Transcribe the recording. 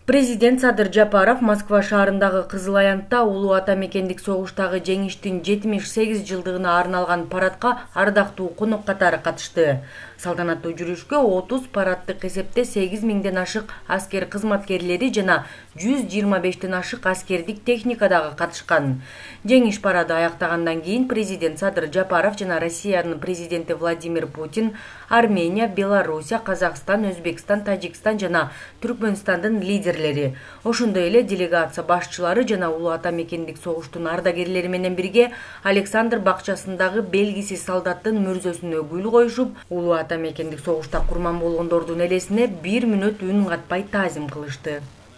Президент Садыр Жапаров Москва шаарындагы Кызыл Аянтта улуу ата мекендик согуштагы жеңиштин 78 жылдыгына арналган парадка ардактуу конок катары катышты. Салтанаттуу жүрүшкө 30 параддык эсепте 8000ден ашык аскер кызматкерлери жана 125тен ашык аскердик техника дагы катышкан. Жеңиш парады аяктагандан кийин президент Садыр Жапаров жана Россиянын президенти Владимир Путин Армения, Белоруссия, Казакстан, Өзбекстан, Тажикстан жана Түркмөнстандын лидерлери, ошондой эле делегация башчылары жана улуу ата мекендик согуштун ардагерлери менен бирге Александр бакчасындагы белгисиз солдаттын мүрзөсүнө гүл коюшуп, улуу ата мекендик согушта курман болгондордун элесине 1 мүнөт үн катпай таазим кылышты.